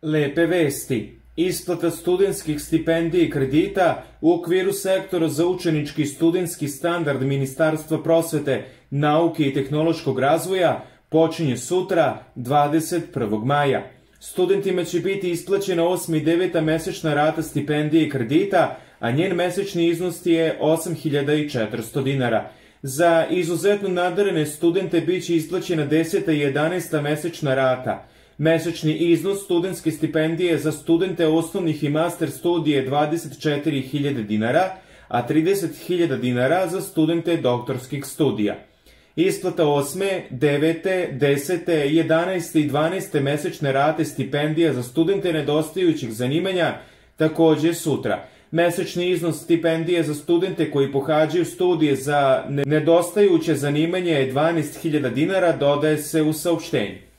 Lepe vesti. Isplata studentskih stipendija i kredita u okviru sektora za učenički i studentski standard Ministarstva prosvete, nauke i tehnološkog razvoja počinje sutra, 21. maja. Studentima će biti isplaćena 8. i 9. mesečna rata stipendije i kredita, a njen mesečni iznos je 8.400 dinara. Za izuzetno nadarene studente biće isplaćena 10. i 11. mesečna rata. Mesečni iznos studentske stipendije za studente osnovnih i master studija je 24.000 dinara, a 30.000 dinara za studente doktorskih studija. Isplata 8., 9., 10., 11. i 12. mesečne rate stipendija za studente nedostajućih zanimanja takođe sutra. Mesečni iznos stipendije za studente koji pohađaju studije za nedostajuće zanimanje je 12.000 dinara, dodaje se u saopštenju.